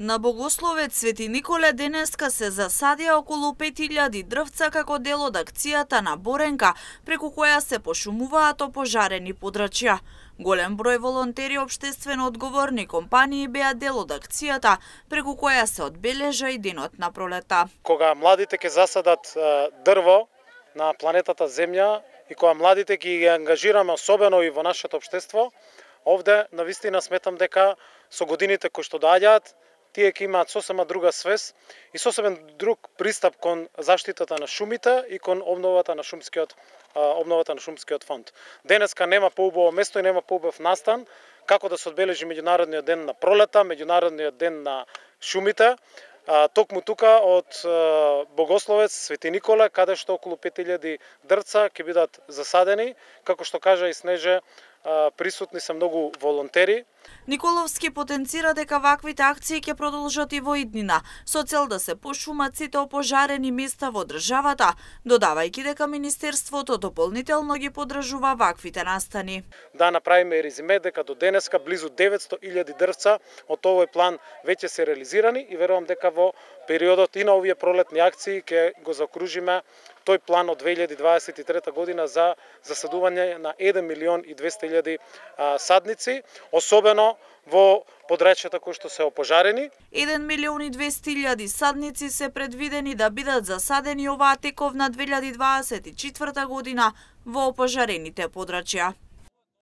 На Богословец Свети Николе денеска се засадија околу 5000 дрвца како дел од акцијата на Боренка, преку која се пошумуваат опожарени подрачја. Голем број волонтери општествено одговорни компании беа дел од акцијата, преку која се одбележа и денот на пролета. Кога младите ќе засадат дрво на планетата Земја и кога младите ги ангажираме особено и во нашето општество, овде навистина сметам дека со годините кои што доаѓаат, тие ќе имаат сосема друга свест и сосема друг пристап кон заштитата на шумите и кон обновата на шумскиот фонд. Денеска нема поубаво место и нема поубав настан како да се одбележи меѓународниот ден на пролета, меѓународниот ден на шумите. Токму тука од Богословец Свети Николе, каде што околу 5000 дрвца ќе бидат засадени, како што кажа и Снеже, присутни се многу волонтери. Николовски потенцира дека ваквите акции ќе продолжат и во иднина, со цел да се пошумат сите опожарени места во државата, додавајќи дека Министерството дополнително ги поддржува ваквите настани. Да направиме резиме дека до денеска близу 900.000 дрвца од овој план веќе се реализирани и верувам дека во периодот и на овие пролетни акции ќе го заокружиме тој план од 2023 година за засадување на 1.200.000 садници, особено во подрачјата кои што се опожарени. 1.200.000 садници се предвидени да бидат засадени оваа тековна 2024 година во опожарените подрачја.